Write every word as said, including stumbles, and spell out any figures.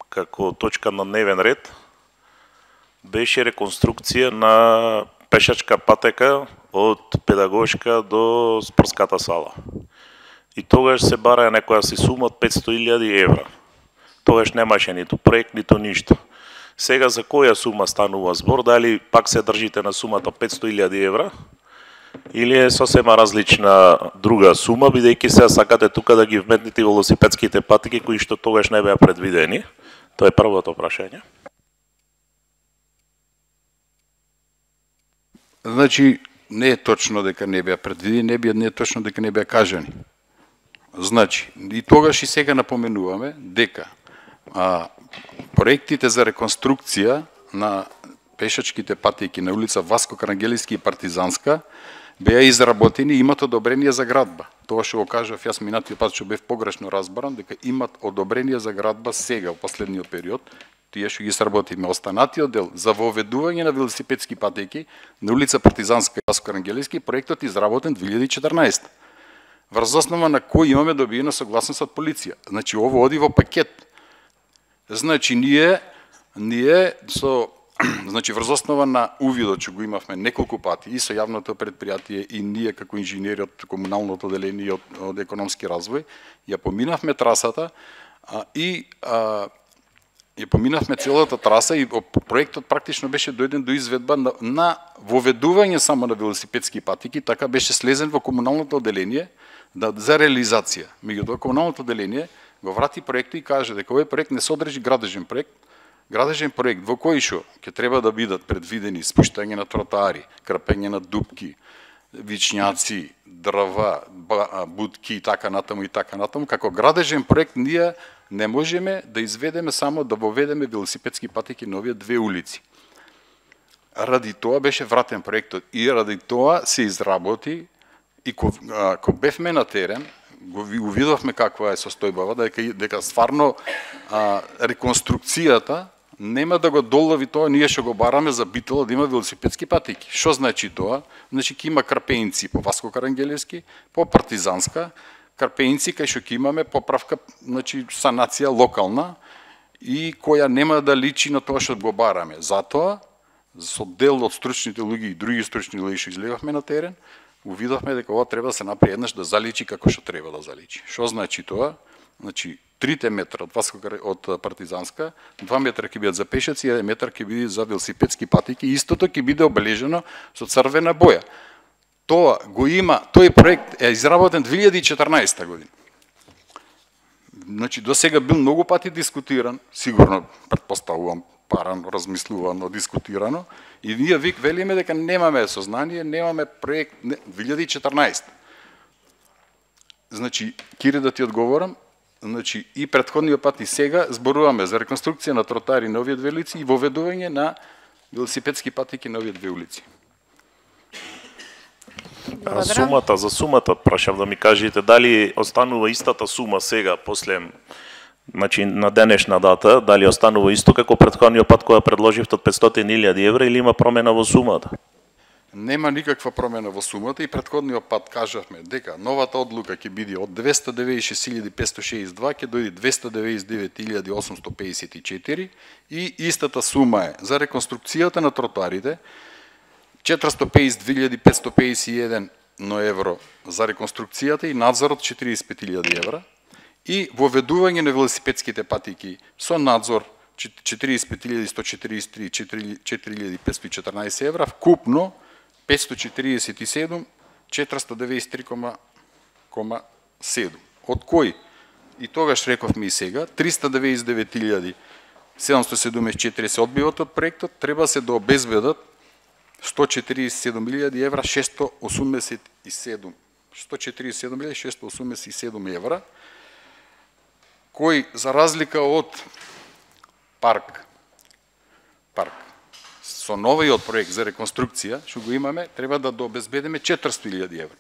како точка на дневен ред беше реконструкција на пешачка патека од педагошка до спортската сала. И тогаш се бараа некоја си сума од петсто илјади евра. Тогаш немаше ниту проект, ниту ништо. Сега за која сума станува збор? Дали пак се држите на сумата петсто илјади евра? Или е сосема различна друга сума, бидејќи сега сакате тука да ги вметнете велосипедските патеки кои што тогаш не беа предвидени? Тоа е првото прашање. Значи, не е точно дека не беа предвидени, не, беа, не е точно дека не беа кажани. Значи, и тогаш и сега напоменуваме дека а, проектите за реконструкција на пешачките патеки на улица Васко Карангелиски и Партизанска беа изработени и имат одобрение за градба. Тоа што го кажав јас минатиот пат што бев погрешно разбран, дека имат одобрение за градба сега, во последниот период, тие што ги сработиме. Останатиот дел за воведување на велосипедски патеки на улица Партизанска и Васко Карангелиски, проектот изработен две илјади и четрнаесета. Врз основа на кој имаме добиена согласност од полиција. Значи, ово оди во пакет. Значи, ние, ние со значи врз основа на увидот што го имавме неколку пати и со јавното предпријатие и ние како инженери од комуналното одделение и од, од економски развој, ја поминавме трасата а, и а, ја поминавме целата траса и проектот практично беше дојден до изведба на, на воведување само на велосипедски патеки, така беше слезен во комуналното одделение да, за реализација. Меѓутоа комуналното одделение го врати проектот и каже дека овој проект не содржи градежен проект, градежен проект во кој што ќе треба да бидат предвидени спуштање на тротоари, крпење на дупки, вичњаци, дрва, будки и така натаму и така натаму, како градежен проект ние не можеме да изведеме само да воведеме велосипедски патеки на овие две улици. Ради тоа беше вратен проектот и ради тоа се изработи и ко, а, ко бевме на терен, го увидовме каква е состојбава, дека, дека стварно а, реконструкцијата нема да го долови тоа ние што го бараме за Битола да има велосипедски патеки. Што значи тоа? Значи ќе има крпеинци по Васко Карангелиски, по Партизанска, крпеинци кај што ќе имаме поправка, значи санација локална и која нема да личи на тоа што го бараме. Затоа со дел од стручните луѓе и други стручни луѓе што излегавме на терен, увидовме дека ова треба да се направи еднаш да заличи како што треба да заличи. Што значи тоа? Значи трите метра од Васко од Партизанска, два метра ќе бидат за пешаци, еден метар ќе биде за велосипедски патеки, истото ќе биде обележено со црвена боја. Тоа го има, тој проект е изработен две илјади и четрнаесета година. Значи до сега бил многу пати дискутиран, сигурно претпоставувам парано, размислувано, дискутирано, и ние вик велиме дека немаме сознание, немаме проект две илјади и четрнаесета. Значи, Кири да ти одговорам, значи и претходниот пат и сега зборуваме за реконструкција на тротоари на овие две улици и воведување на велосипедски патеки на овие две улици. А сумата, за сумата прашав да ми кажете дали останува истата сума сега после, значи на денешна дата, дали останува исто како претходниот пат кога предложивте од петстотини илјади евра или има промена во сумата? Нема никаква промена во сумата и претходниот пат кажавме дека новата одлука ќе биде од двесте деветдесет и шест илјади петсто шеесет и два ќе дојде двесте деветдесет и девет илјади осумсто педесет и четири и истата сума е за реконструкцијата на тротоарите четиристо педесет и две илјади петсто педесет и еден евро за реконструкцијата и надзорот четириесет и пет илјади евра и воведување на велосипедските патеки со надзор четириесет и пет илјади сто четириесет и три четири илјади петсто и четрнаесет евра, вкупно петсто четириесет и седум четиристо деветдесет и три кома седум. Од кој? И тогаш рековме и сега, триста деветдесет и девет илјади седумсто седумдесет и четири се одбиват од проектот, треба се да обезбедат сто четириесет и седум илјади евра шестsto осумдесет и седум сто четириесет и седум илјади шестsto осумдесет и седум евра, кој за разлика од парк, парк, со новиот проект за реконструкција, што го имаме, треба да дообезбедиме четиристо илјади евра.